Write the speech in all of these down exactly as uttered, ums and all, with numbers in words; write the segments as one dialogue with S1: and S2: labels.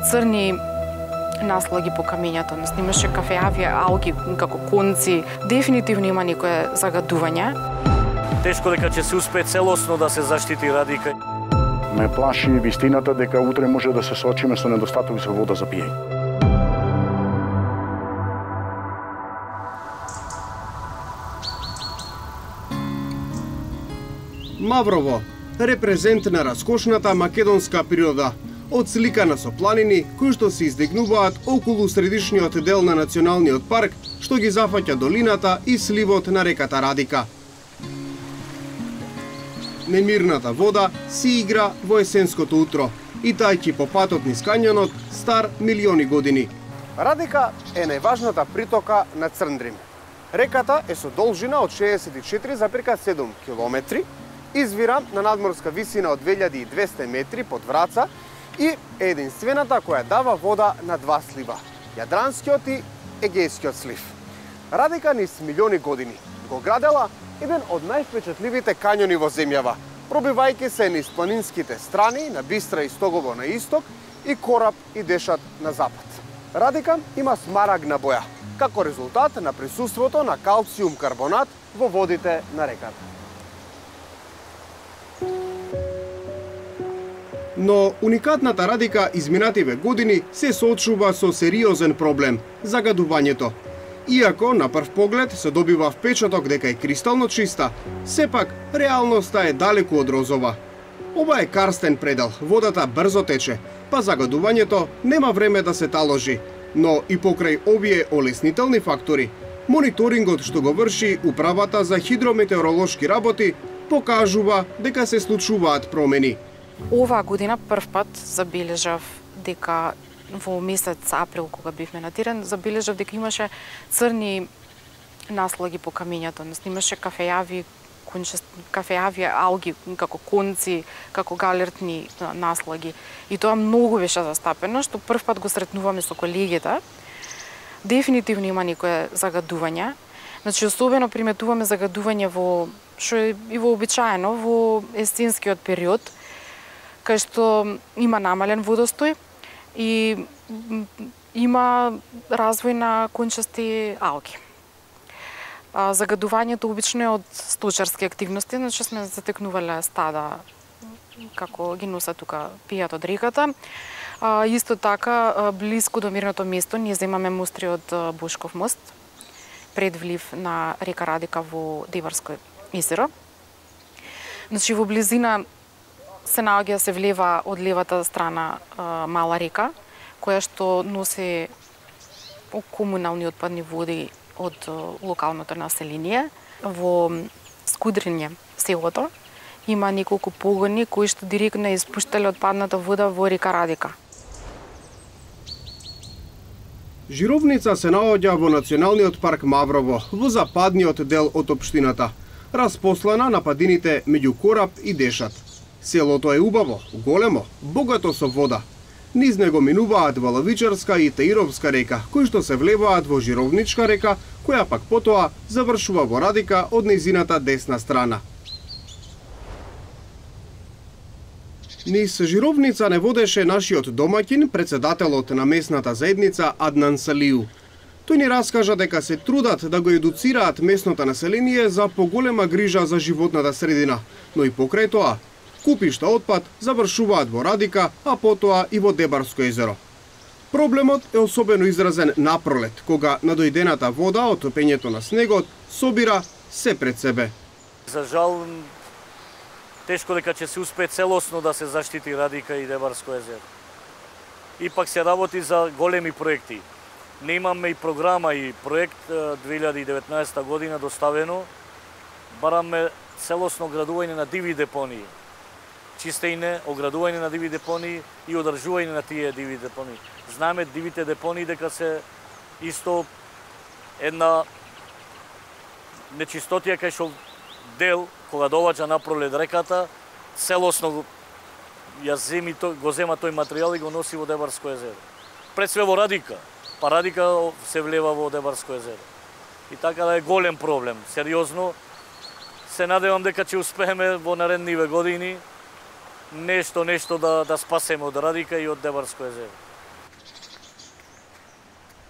S1: црни наслоги по камењето, имаше кафеави алги како конци. Дефинитивно има некое загадување.
S2: Тешко дека ќе се успее целосно да се заштити Радика.
S3: Ме плаши вистината дека утре може да се соочиме со недостаток за вода за пиење.
S4: Маврово, репрезент на раскошната македонска природа, одсликана со планини кои што се издигнуваат околу средишниот дел на националниот парк, што ги зафаќа долината и сливот на реката Радика. Немирната вода си игра во есенското утро, и тајќи по патот низ кањонот стар милиони години. Радика е најважната притока на Црндрим. Реката е со должина од шеесет и четири запирка седум километри, извира на надморска висина од две илјади и двесте метри под Враца и е единствената која дава вода на два слива – Јадранскиот и Егејскиот слив. Радика низ милиони години го градела еден од највпечатливите кањони во земјава, пробивајќи се низ планинските страни на Бистра и Стогово на исток и Кораб и Дешат на запад. Радика има смарагна боја, како резултат на присуството на калциум карбонат во водите на реката. Но уникатната Радика изминативе години се соочува со сериозен проблем – загадувањето. Иако на прв поглед се добива впечаток дека е кристално чиста, сепак реалноста е далеку од розова. Ова е карстен предел, водата брзо тече, па загадувањето нема време да се таложи. Но и покрај овие олеснителни фактори, мониторингот што го врши Управата за хидрометеоролошки работи покажува дека се случуваат промени.
S1: Оваа година прв пат забележав дека во месец април, кога бивме на терен, забележав дека имаше црни наслоги по камењето, имаше кафеави, кафеави алги како конци, како галертни наслоги. И тоа многу беше застапено, што прв пат го сретнуваме со колегите. Дефинитивно има некое загадување. Значи, особено приметуваме загадување во, што е и вообичаено, во есенскиот период, кај што има намален водостој и има развој на кончасти алги. Загадувањето обично е од сточарски активности, значи сме затекнувале стада како ги носат тука пијат од реката. Исто така, блиску до мирното место, ние земаме мостри од Бошков мост, пред влив на река Радика во Деварско езеро. Значи, во близина се наоѓа се влева од левата страна а, мала река, која што носи комунални отпадни води од а, локалното население. Во Скудриње, селото, има неколку погони кои што директно испуштале отпадната вода во река Радика.
S4: Жировница се наоѓа во Националниот парк Маврово, во западниот дел од општината, распослана на падините меѓу Кораб и Дешат. Селото е убаво, големо, богато со вода. Низ него минуваат Валовичарска и Таировска река, кои што се влеваат во Жировничка река, која пак потоа завршува во Радика од нејзината десна страна. Низ Жировница не водеше нашиот домаќин, председателот на местната заедница Аднан Салиу. Тој ни раскажа дека се трудат да го едуцираат местното население за поголема грижа за животната средина, но и покрај тоа, купишта отпад завршуваат во Радика, а потоа и во Дебарско езеро. Проблемот е особено изразен напролет, кога надојдената вода од топењето на снегот собира се пред себе.
S2: За жал, тешко дека ќе се успее целосно да се заштити Радика и Дебарско езеро. Ипак се работи за големи проекти. Не имаме и програма и проект две илјади и деветнаесета година доставено. Бараме целосно градување на диви депонии. Чистење, оградување на диви депонии и одржување на тие диви депонии. Знаеме дивите депонии дека се исто една нечистотија кај што дел кога доваѓа напролет реката, целосно ја земи тој, го зема тој материјал и го носи во Дебарско езеро. Пред све во Радика, па Радика се влева во Дебарско езеро. И така да е голем проблем, сериозно. Се надевам дека ќе успееме во наредниве години нешто нешто да да спасеме од Радика и од Дебарско езеро.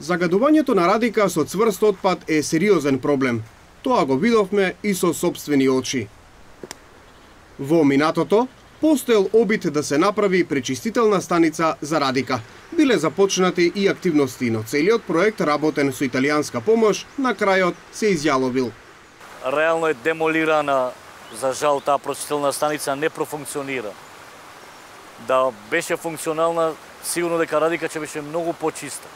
S4: Загадувањето на Радика со цврст отпад е сериозен проблем. Тоа го видовме и со сопствени очи. Во минатото постоел обид да се направи пречистителна станица за Радика. Биле започнати и активности, но целиот проект, работен со италијанска помош, на крајот се изјаловил.
S2: Реално е демолирана, за жал таа пречистителна станица не профункционира. Да беше функционална, сигурно дека Радика ќе беше многу почиста.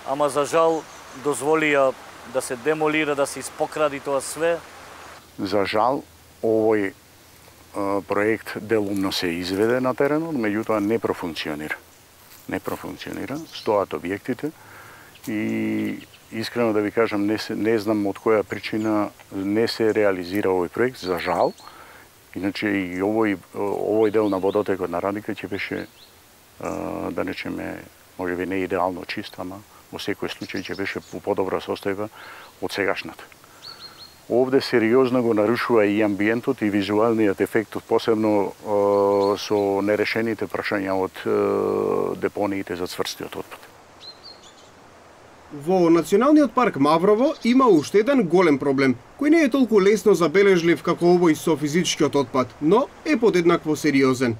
S2: Ама за жал дозволија да се демолира, да се испокради тоа све.
S3: За жал, овој проект делумно се изведе на теренот, меѓутоа не профункционира. Не профункционира, стоат објектите и искрено да ви кажам, не, се, не знам од која причина не се реализира овој проект, за жал. Иначе и овој, овој дел на водотекот на Радика ќе беше, да речеме, можеби не идеално чист, ама во секој случај ќе беше по подобра состојба од сегашната. Овде сериозно го нарушува и амбиентот и визуалниот ефект, посебно е, со нерешените прашања од е, депониите за цврстиот отпад.
S4: Во Националниот парк Маврово има уште еден голем проблем, кој не е толку лесно забележлив како овој со физичкиот отпад, но е подеднакво сериозен.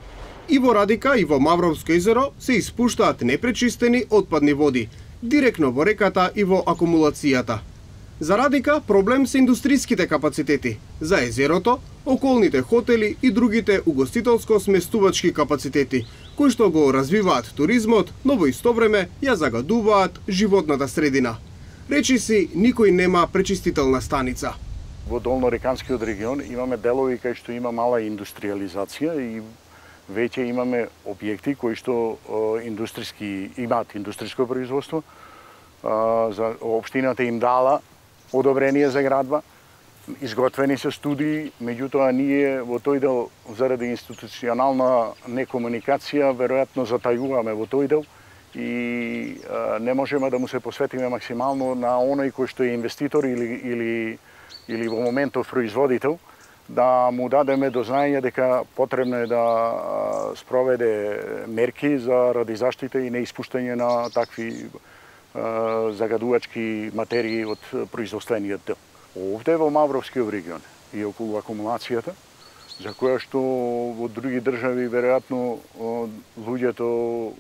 S4: И во Радика и во Мавровско езеро се испуштаат непречистени отпадни води, директно во реката и во акумулацијата. За Радика проблем се индустриските капацитети, за езерото, околните хотели и другите угостителско-сместувачки капацитети, кои што го развиваат туризмот, но во исто време ја загадуваат животната средина. Речи си, никој нема пречистителна станица.
S3: Во Долнореканскиот регион имаме делови кај што има мала индустриализација и веќе имаме објекти кои што индустријски имаат индустријско производство. За општината им дала одобрение за градба, изготвени се студии, меѓутоа ние во тој дел заради институционална некомуникација веројатно затајуваме во тој дел и а, не можеме да му се посветиме максимално на оној кој што е инвеститор или или или во моментов производител, да му дадеме до знаење дека потребно е да спроведе мерки за ради заштита и неиспуштање на такви загадувачки материи од производствениот дел. Овде во Мавровскиот регион и околу акумулацијата, за која што во други држави веројатно луѓето,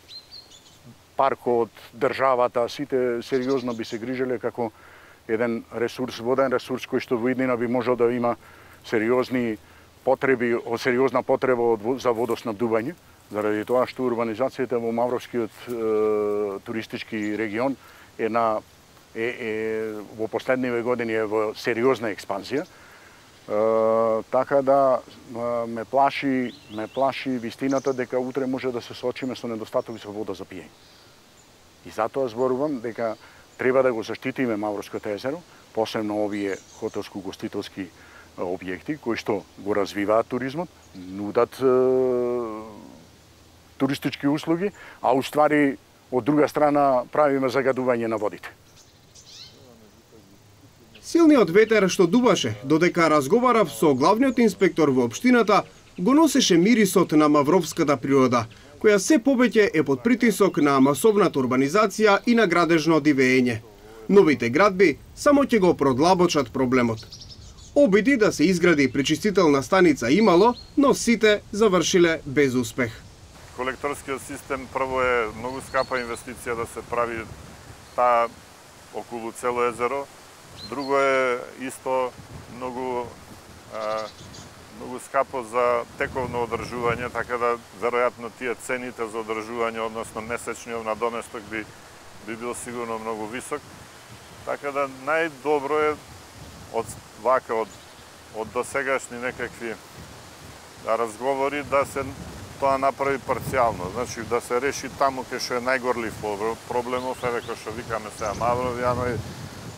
S3: паркот, државата, сите сериозно би се грижеле како еден ресурс, воден ресурс кој што во иднина би можел да има сериозни потреби, сериозна потреба за водоснабдување. Заради тоа што урбанизацијата во Мавровскиот е, туристички регион е на е, е во последниве години е во сериозна експанзија. Е, така да ме плаши, ме плаши вистината дека утре може да се соочиме со недостаток за вода за пиење. И затоа зборувам дека треба да го заштитиме Мавровското езеро, посебно овие хотелско-гостителски објекти кои што го развиваат туризмот, нудат е, туристички услуги, а уствари од друга страна правиме загадување на водите.
S4: Силниот ветер што дуваше, додека разговарав со главниот инспектор во општината, го носеше мирисот на мавровската природа, која се повеќе е под притисок на масовната урбанизација и на градежно дивење. Новите градби само ќе го продлабочат проблемот. Обиди да се изгради пречистителна станица имало, но сите завршиле без успех.
S5: Колекторскиот систем прво е многу скапа инвестиција да се прави таа околу цело езеро. Друго е исто многу а, многу скапо за тековно одржување, така да веројатно тие цените за одржување, односно месечниот надоместок би би бил сигурно многу висок. Така да најдобро е од вака од од досегашни некакви разговори да се тоа направи парцијално, значи да се реши таму кај што е најгорлив проблемов, еве кој што викаме сега Мавровјано,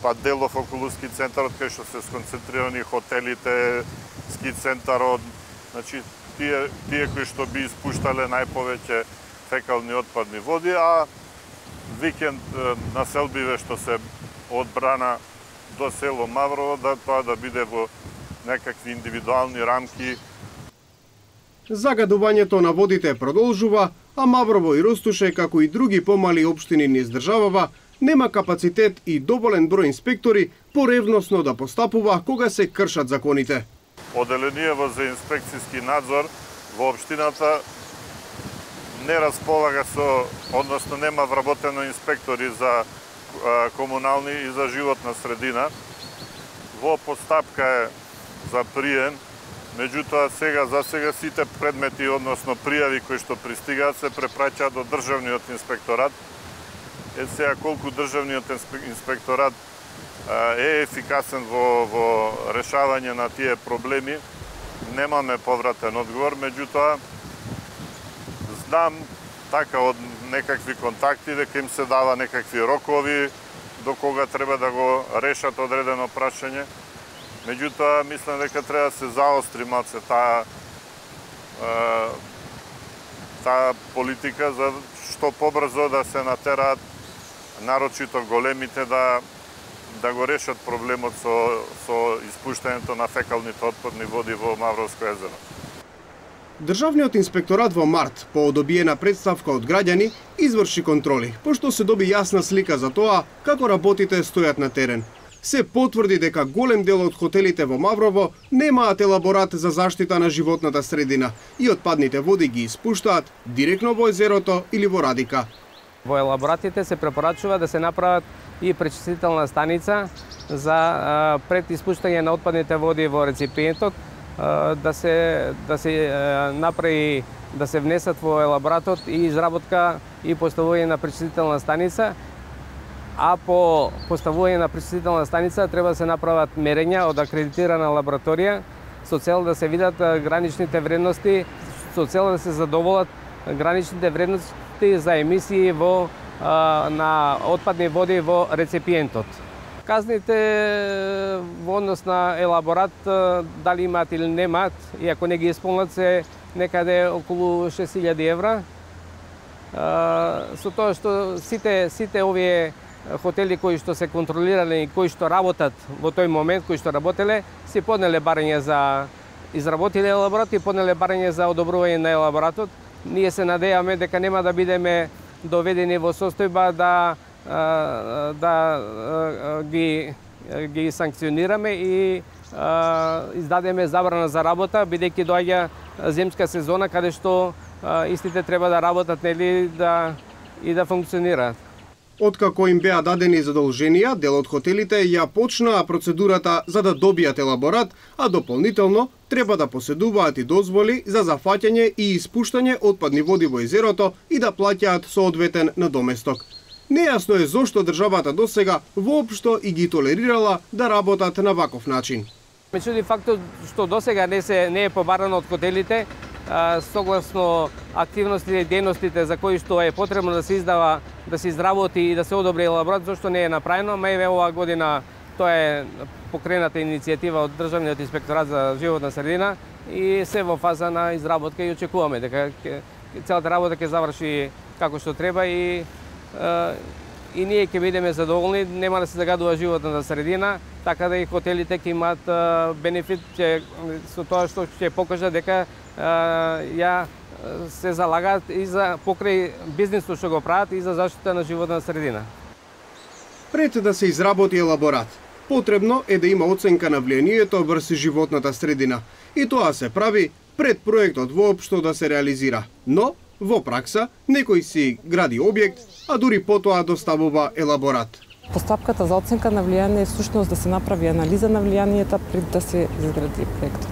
S5: па делов околу ски центарот кај што се сконцентрирани хотелите, ски центарот, значи тие тие кои што би испуштале најповеќе фекални отпадни води, а викенд населбиве што се од Брана до село Маврово, да тоа да биде во некакви индивидуални рамки.
S4: Загадувањето на водите продолжува, а Маврово и Ростуше, како и други помали општини низ државава, нема капацитет и доволен број инспектори поревносно да постапува кога се кршат законите.
S5: Оделението за инспекцијски надзор во општината не располага со, односно нема вработено инспектори за а, комунални и за животна средина. Во постапка е за прием, меѓутоа сега за сега сите предмети, односно пријави кои што пристигаат се препраќаат до државниот инспекторат. Е сега колку државниот инспекторат а, е ефикасен во, во решавање на тие проблеми, немаме повратен одговор, меѓутоа знам така од некакви контакти дека им се дава некакви рокови до кога треба да го решат одредено прашање. Меѓутоа мислам дека треба да се заостри малце таа таа политика за што побрзо да се натераат нарочито големите да да го решат проблемот со со испуштањето на фекалните отпадни води во Мавровско езеро.
S4: Државниот инспекторат во март, по одобиена представка од граѓани, изврши контроли, пошто се доби јасна слика за тоа како работите стојат на терен. Се потврди дека голем дел од хотелите во Маврово немаат елаборат за заштита на животната средина и отпадните води ги испуштаат директно во езерото или во Радика.
S6: Во елаборатите се препорачува да се направат и пречистителна станица за а, пред испуштање на отпадните води во реципиентот, а, да се да се а, направи да се внесат во елаборатот и изработка и поставување на пречистителна станица. А по поставување на пречистителна станица треба да се направат мерења од акредитирана лабораторија со цел да се видат граничните вредности, со цел да се задоволат граничните вредности за емисии во а, на отпадни води во реципиентот. Казните во однос на елаборат дали имаат или немаат, и ако не ги исполнат се некаде околу шест илјади евра. А, со тоа што сите сите овие хотели кои што се контролирани и кои што работат во тој момент, кои што работеле, си поднеле барање за изработиле елаборат и поднеле барање за одобрување на елаборатот. Ние се надејаме дека нема да бидеме доведени во состојба да да ги ги санкционираме и издадеме забрана за работа, бидејќи доаѓа земска сезона каде што истите треба да работат, нели, да и да функционираат.
S4: Откако им беа дадени задолженија, дел од хотелите ја почнаа процедурата за да добијат елаборат, а дополнително треба да поседуваат и дозволи за зафаќање и испуштање отпадни води во езерото и да плаќаат соодветен надоместок. Нејасно е зошто државата досега воопшто и ги толерирала да работат на ваков начин.
S6: Ме чуди фактот што досега не се не е побарано од хотелите, согласно активностите и дејностите за кои што е потребно да се издава, да се изработи и да се одобри елаборат, зашто не е направено. Мајве оваа година тоа е покрената иницијатива од Државниот инспекторат за животна средина и се во фаза на изработка и очекуваме дека целата работа ќе заврши како што треба и и ние ќе бидеме задоволни, нема да се загадува животната средина, така да и хотелите ќе имаат бенефит че, со тоа што ќе покажа дека ја се залагаат и за покрај бизнисот што го прават и за заштита на животна средина.
S4: Пред да се изработи елаборат, потребно е да има оценка на влијанието врз животната средина и тоа се прави пред проектот воопшто да се реализира. Но во пракса некој си гради објект, а дури потоа доставува елаборат.
S7: Постапката за оценка на влијание е всушност да се направи анализа на влијанието пред да се изгради проектот.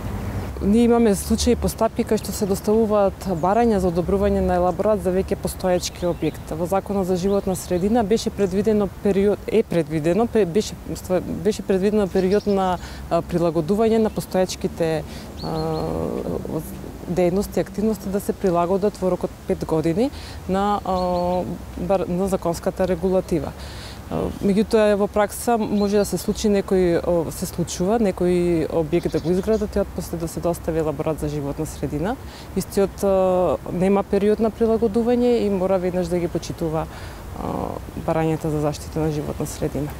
S7: Ние имаме случаи постапки кај што се доставуваат барања за одобрување на елаборат за веќе постоечки објект. Во Законот за животна средина беше предвидено период е предвидено беше беше предвидено период на прилагодување на постоечките дејности и активности да се прилагодат во рок од пет години на на законската регулатива. Меѓутоа во пракса може да се случи некој се случува некој објект да го изградат и отпосле да се достави елаборат за животна средина. Истиот нема период на прилагодување и мора веднаш да ги почитува барањата за заштита на животна средина.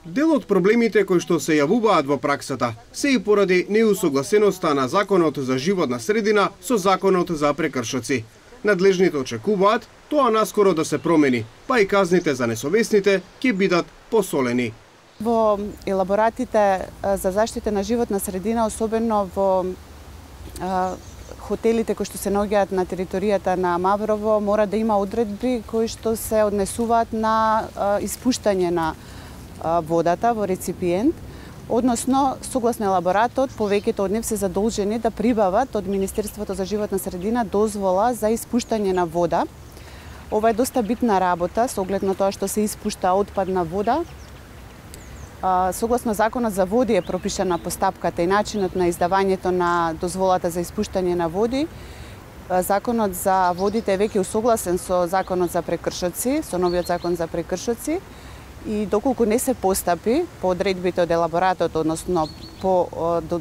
S4: Дел од проблемите кои што се јавуваат во праксата се и поради неусогласеноста на Законот за животна средина со Законот за прекршоци. Надлежните очекуваат тоа наскоро да се промени, па и казните за несовесните ќе бидат посолени.
S8: Во елаборатите за заштита на животна средина, особено во а, хотелите кои што се наоѓаат на територијата на Маврово, мора да има одредби кои што се однесуваат на а, испуштање на а, водата во реципиент, односно, согласно елаборатот, повеќето од нив се задолжени да прибават од Министерството за животна средина дозвола за испуштање на вода. Ова е доста битна работа, со оглед на тоа што се испушта отпадна вода. Согласно Законот за води е пропишана постапката и начинот на издавањето на дозволата за испуштање на води. Законот за водите е веќе усогласен со Законот за прекршоци, со новиот Закон за прекршоци, и доколку не се постапи по одредбите од елаборатот, односно по до,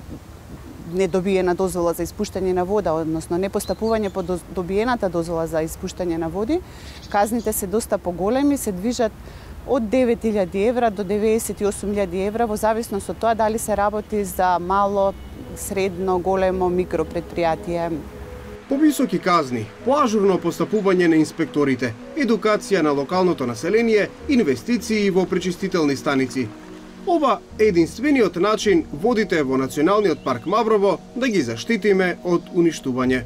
S8: недобиена дозвола за испуштање на вода, односно непостапување по добиената дозвола за испуштање на води, казните се доста поголеми, се движат од девет илјади евра до деветдесет и осум илјади евра, во зависност од тоа дали се работи за мало, средно, големо, микро предпријатие.
S4: Повисоки казни, поажурно постапување на инспекторите, едукација на локалното население, инвестиции во пречистителни станици. Ова е единствениот начин водите во Националниот парк Маврово да ги заштитиме од уништување.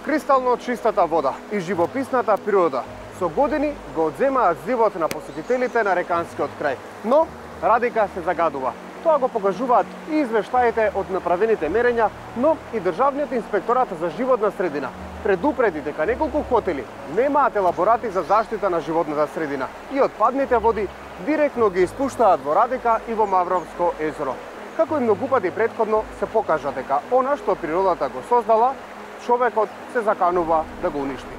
S4: Кристално чистата вода и живописната природа со години го одземаат живот на посетителите на реканскиот крај, но Радика се загадува. Тоа го покажуваат и извештаите од направените мерења, но и Државниот инспекторат за животна средина предупреди дека неколку хотели немаат елаборати за заштита на животната средина и отпадните води директно ги испуштаат во Радика и во Мавровско езеро. Како и многу пати претходно се покажа дека она што природата го создала, човекот се заканува да го уништи.